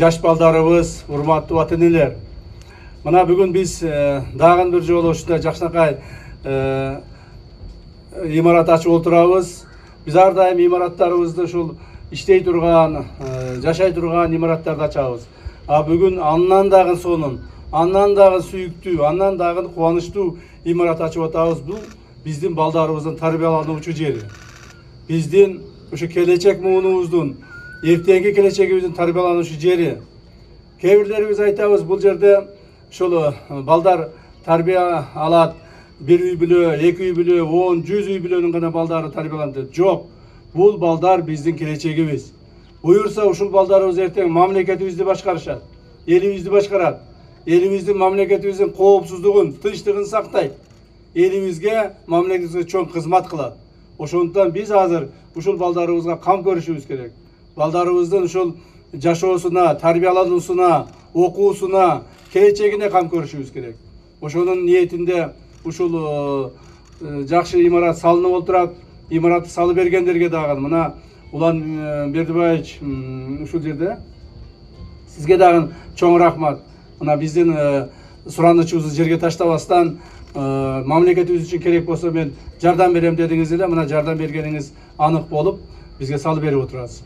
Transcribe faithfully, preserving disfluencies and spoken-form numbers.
жаш балдарыбыз, урматтуу ата энелер. Мына бүгүн биз дагы бир жолу ушундай жакшынакай имарат ачып отурабыз. Биз ар дайым имараттарыбызды ушул иштей турган, жашай турган имараттарды ачабыз. А бүгүн андан дагы сонун, андан дагы сүйүктүү, андан дагы кубанычтуу имарат ачып атабыз. Бул биздин балдарыбыздын тарбиялануучу жери. Биздин ушу келечек муунубуздун, эртеңки келечегибиздин тарбиялануучу жери. Кээ бирлерибиз айтабыз, бул жерде ушул балдар тарбия алат, бир үй бүлө, эки үй бүлө, он, жүз үй бүлөнүн гана балдары тарбияланат. Жок, бул балдар биздин келечегибиз. Буюрса ушул балдарыбыз эртең мамлекетибизди башкарышат, элибизди башкарат. Элибиздин, мамлекетибиздин коопсуздугун, тынчтыгын сактайт. Элибизге, мамлекетибизге чоң кызмат кылат. Ошондуктан биз азыр ушул балдарыбызга кам көрүшүбүз керек. Балдарыбыздын ушул жашоосуна, тарбиялануусуна, окуусуна, келечегине кам көрүшүбүз керек. Ошонун ниетинде ушул жакшы имарат салынып отурат. Имаратты салып бергендерге дагы мына Улан Бердибаевич ушул жерде сизге дагы чоң рахмат. Мына биздин суранычыбызды жерге таштабастан мамлекетибиз үчүн керек болсо мен жардам берем дедиңиз эле, мына жардам бергениңиз анык болуп бизге салып берип отурасыз.